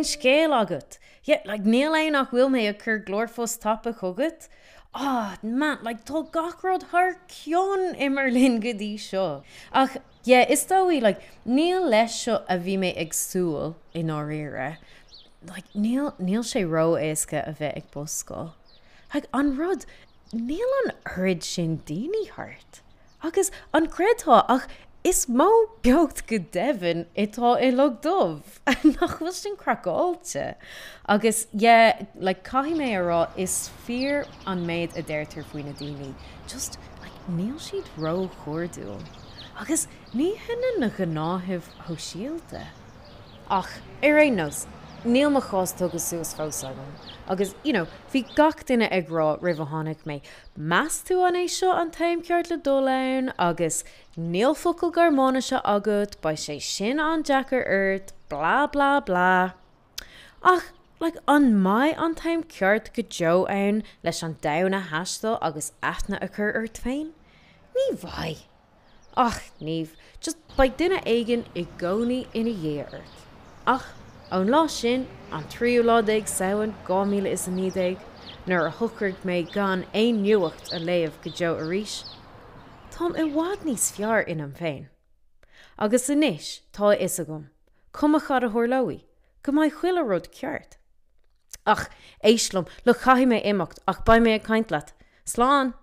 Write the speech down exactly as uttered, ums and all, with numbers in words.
scéal agat? Yeah, like níl ann ach bhfuil mé ag cur glórphost tapa chugat? Ah, man, like tá gach rud thar cionn i mBerlin go dtí seo. Ach yeah, is dóigh like, níl leis seo a bhí mé ag súil i ndáiríre. Like, níl, níl sé ró-éasca a bheith ag buscáil. Like, an rud, níl an oiread sin daoine thart. Agus an gcreidfeá ach is mó beocht go deimhin atá i Log Dubh nach bhfuil sin craiceáilte. Agus yeah, like, caithfidh mé a rá is fíor an méid a deirtear faoi na daoine. Just like, níl siad ró-chairdiúil. Agus ní hionann na gnáthaimh shóisialta. Ach ar aon nós, níl mo chás tugtha suas fós agam. Agus you know, bhí gach duine ag rá roimh a tháinig mé. Meas tú an é seo an t-am ceart le dul ann agus níl focal Gearmáinise agat, beidh sé sin an-deacair ort, bla bla bla. Ach like, an mbeidh an t-am ceart go deo ann leis an domhan a thaisteal agus aithne a chur ort féin? Ní bheidh. Ach níomh, just beidh duine éigin i gcónaí ina dhiaidh ort. Ach ón lá sin an tríú lá déag Samhain dhá míle is a naoi déag, nuair a shocraigh mé gan aon nuacht a léamh go deo arís, Táim i bhfad níos fearr ionam féin. Agus anois tá a fhios agam, cuma cad a tharlóidh, go mbeidh chuile rud ceart. Ach éist liom le caithfidh mé imeacht ach beidh mé ag caint leat. Slán!